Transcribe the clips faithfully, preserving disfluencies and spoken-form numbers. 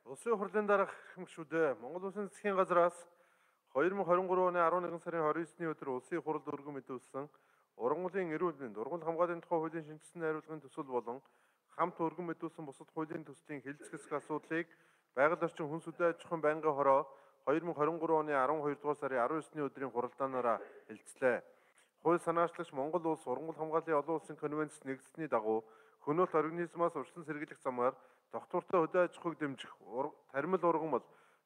Улсын хурлын дараах гишүүдээ Монгол Улсын засгийн газраас хоёр мың хорин гурван оны арван нэгэн сарын хорин есний өдөр улсын хурлд өргөн мэдүүлсэн ургамлын эрүүл мэнд, ургамал хамгааллын тухай хуулийн шинжилсэн найруулгын төсөл болон хамт өргөн мэдүүлсэн бусад хуулийн төслийн хэлэлцэх хэсэг асуудлыг байгаль орчин хүн сүдэн аж ахуйн байнгын хороо хоёр мың хорин гурван оны арван хоёр дугаар сарын арван есний өдрийн хуралдаанаараа хэлэлцлээ. Хууль санаачлагч Монгол улс ургамал хамгааллын олон улсын конвенцэд нэгдсэний дагуу хөнөөлт организмаас урьдчилан сэргийлэх замаар доктортой хөдөө аж ахуйг дэмжих, тармил ургамал,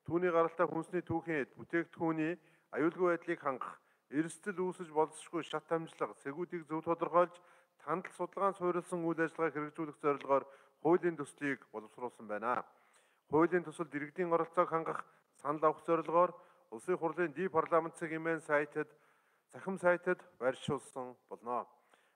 түүний гаралтай хүнсний түүхийн эд, бүтээгдэхүүний аюулгүй байдлыг хангах, эрсдэл үүсэж болзошгүй шат амжлага, сэгүүдийг зөв тодорхойлж, тандал судалгаан суурилсан үйл ажиллагааг хэрэгжүүлэх зорилгоор хуулийн төслийг боловсруулсан байна. Хуулийн төсөлд иргэдийн оролцоог хангах, санал авах зорилгоор улсын хурлын ди парламент сегмент сайтад, захим сайтад байршуулсан болно.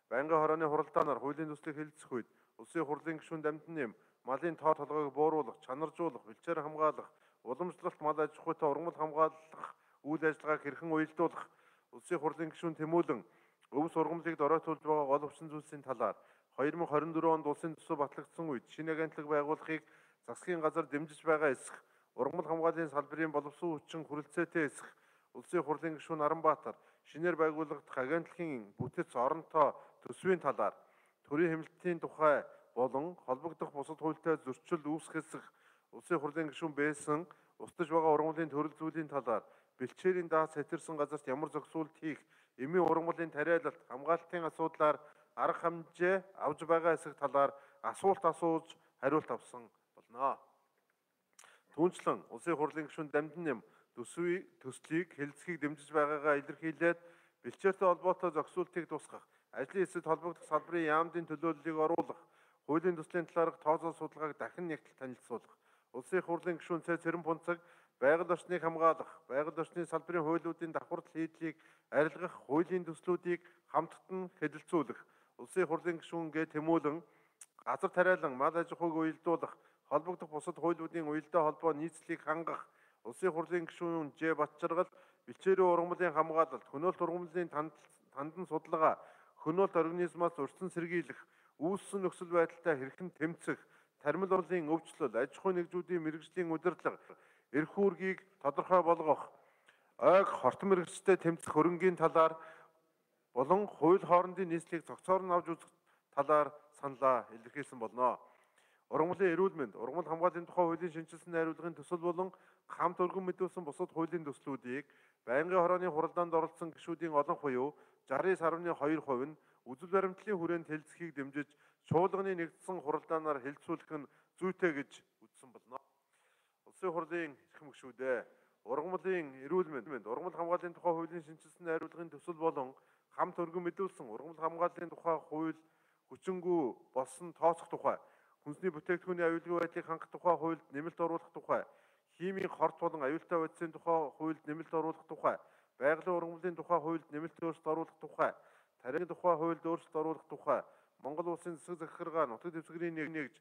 Байнгын хорооны хуралдаанаар хуулийн төслийг хэлэлцэх үед улсын хурлын гишүүн дамжин нэм малын тоо толгойг бууруулах, чанаржуулах, бэлчээр хамгаалах, уламжлалт мал аж ахуйтай ургамал хамгаалах үйл ажиллагааг хэрхэн уялдуулах, улсын хурлын гишүүн тэмүүлэн өвс ургамлыг доройтуулж байгаа гол өвчин зүйлсийн талаар хоёр мың хорин дөрвөн онд улсын төсөв батлагдсан үед шинэ агентлаг байгуулахыг засгийн газар дэмжиж байгаа эсэх, ургамал хамгааллын салбарын боловсон хүчин хүрэлцээтэй эсэх, улсын хурлын гишүүн Аранбаатар шинээр байгуулагдах агентлагийн бүтэц оронтой төсвийн талаар төрийн хэмнэлтийн тухай болон холбогдох бусад хуультай зөрчил үүсэх эсэх, улсын хурлын гишүүн байсан устж байгаа ургамлын төрөл зүйлийн талаар бэлчээрийн даас хэтэрсэн газарт ямар зохицуулт хийх, эмийн ургамлын тариалалт, хамгаалтын асуудлаар арга хэмжээ авж байгаа эсэх талаар асуулт асууж хариулт авсан болно. Түүнчлэн улсын хурлын гишүүн дамжин нэм төсвийг төслийг хэлэлцэхийг дэмжиж байгаагаа илэрхийлээд бэлчээртэй холбоотой зохицуултыг тусгах, ажлын хэсэгт холбогдох салбарын яамдын төлөөллийг оруулах, хуулийн төслийн талаарх тооцоо судалгааг дахин нэгтэл танилцуулах, улсын хурлын гишүүн Цэ Цэрэн Пунцаг байгаль орчныг хамгаалах, байгаль орчны салбарын хуулиудын давхардал хийдлийг арилгах хуулийн төслүүдийг хамтдан хэлэлцүүлэх, улсын хурлын гишүүн Гэ Тэмүүлэн газар тариалан мал аж ахуйг уялдуулах, холбогдох бусад хуулиудын уялдаа холбоо нийцлийг хангах, улсын хурлын гишүүн Жэ Батчаргал бэлчээрийн ургамлын хамгаалалт, хөнөөлт ургамлын тандан судалгаа, хөнөөлт организмаас урьдчилан сэргийлэх, үүссэн нөхцөл байдалтай хэрхэн тэмцэх, тармил урлагийн өвчлөл, аж ахуйн нэгжүүдийн мэргэжлийн удирдлага, эрх үүргийг тодорхой болгох, ойг хортон мэргэжтэй тэмцэх хөрөнгийн талаар болон хууль хоорондын нийслэлийг цогцоор нь авч үзэх талаар саналаа илэрхийлсэн болно. Ургамлын эрүүл мэнд, ургамал хамгааллын тухай хуулийн шинжилсэн найруулгын төсөл болон хамт өргөн мэдүүлсэн бусад хуулийн төслүүдийг байнгын хорооны хуралдаанд оролцсон гишүүдийн олон буюу шестдесет сарвны хоёр хувь нь үзэл баримтлалын хүрээнд хэлэлцэхийг дэмжиж чуулганы нэгдсэн хуралдаанаар хэлэлцүүлэх нь зүйтэй гэж үзсэн болно. Улсын хурлын эрхэм гишүүдээ ургамлын эрүүл мэнд, ургамал хамгааллын тухай хуулийн шинжилсэн найруулгын төсөл болон хамт өргөн мэдүүлсэн ургамал хамгааллын тухай хууль хүчингү болсон тооцох тухай, хүнсний бүтээгдэхүүний аюулгүй байдлыг хангах тухай хуульд нэмэлт оруулах тухай, химийн хорт болон аюултай байдлын тухай хуульд нэмэлт оруулах тухай, байгалийн ургамлын тухай хуульд нэмэлт өөрчлөлт оруулах тухай, тарийн тухай хуульд өөрчлөлт оруулах тухай, Монгол улсын засаг захиргаа нутаг дэвсгэрийн нэгж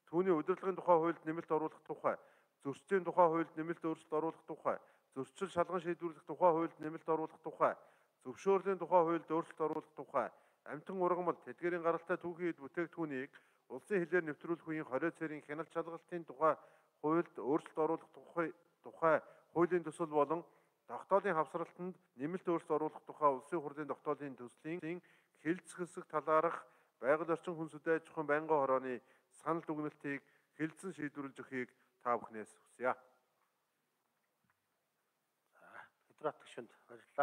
түүний удирдлагын тухай хуульд нэмэлт оруулах тухай, зөрчлийн тухай хуульд нэмэлт өөрчлөлт оруулах тухай, зөрчил шалган шийдвэрлэх тухай хуульд нэмэлт оруулах тухай, зөвшөөрлийн тухай хуульд өөрчлөлт оруулах тухай, амтан ургамал, тэдгээрийн гаралтай түүхийн бүтээгдэхүүнийг улсын хилээр нэвтрүүлэх үеийн хорио цэрийн хяналт шалгалтын тухай хуульд өөрчлөлт оруулах тухай тухай хуулийн төсөл болон тогтоолын хавсралтанд нэмэлт өөрчлөлт оруулах тухай улсын хурлын тогтоолын төслийн хэлэлцэх хэсэг талаарх байгаль орчин хүн сүдэн аж ахуйн байнгын хорооны санал дүгнэлтийг хэлэлцэн шийдвэрлэж өгөхийг та бүхнээс хүсье. Хэдрат гишүүнд баярлалаа.